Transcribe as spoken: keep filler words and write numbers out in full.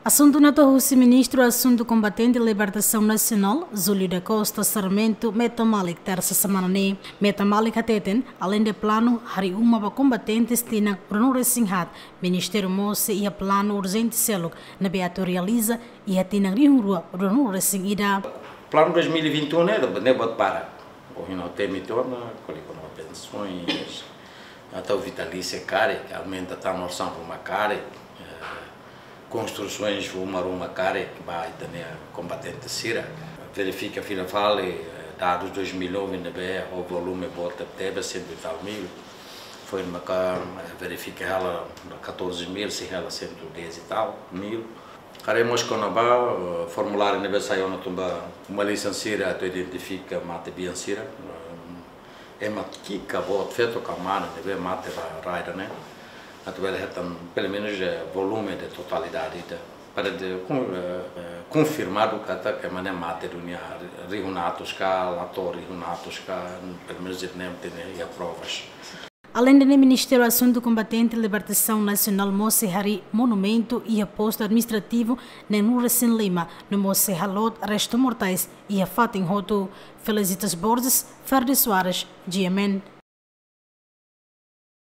Asuntu ne'e hato'o husi Ministru Asuntu Kombatente Libertasaun Nasionál, Júlio da Costa Sarmento, Meta Malik, tersa semana ne'e. Meta Malik hateten, aleinde planu harii uma ba kombatentes tinan ruanulu-resin-haat, Ministériu mós sei iha planu urjente seluk ne'ebé atu realiza iha tinan rihun rua ruanulu-resin-ida. Planu dois mil e vinte e um ne'e, ne'e buat barak. Ohin ha'u temi tiha ona, ko'alia kona-ba pensões, até o vitalício karik, aumenta tan orsam ruma karik, eh, konstrusaun uma ruma karik ba ita-nia kombatente sira. Verifika fila fali, eh, dadus dois mil e nove ne'ebé ho volume boot tebes, cento e tal mil. Foin maka, eh, verifika hela catorze mil, sei hela cento e dez e tal mil. Haree mós kona-ba, eh, formuláriu ne'ebé sai ona tanba uma lisensa sira atu identifika mate-bian sira, eh, ema ki'ik ka boot, feto ka mane ne'ebé mate ba rai ida-ne'e. Atu bele hetan, pelumenus, eh, volume de totalidade ida. Para de kon-, eh, eh, konfirmadu katak ema ne'e mate duni iha rihun atus ka, la to'o rihun atus ka, pelumenus ita-nia ne'e tenke iha provas. Aleinde ne'e, Ministériu Asuntu Kombatente Libertasaun Nasionál mós sei harii monumentu iha postu administrativu neenulu-resin-lima, no mós sei haloot restu mortais iha fatin hotu. Felicitas Borges, Ferdi Soares, G M N.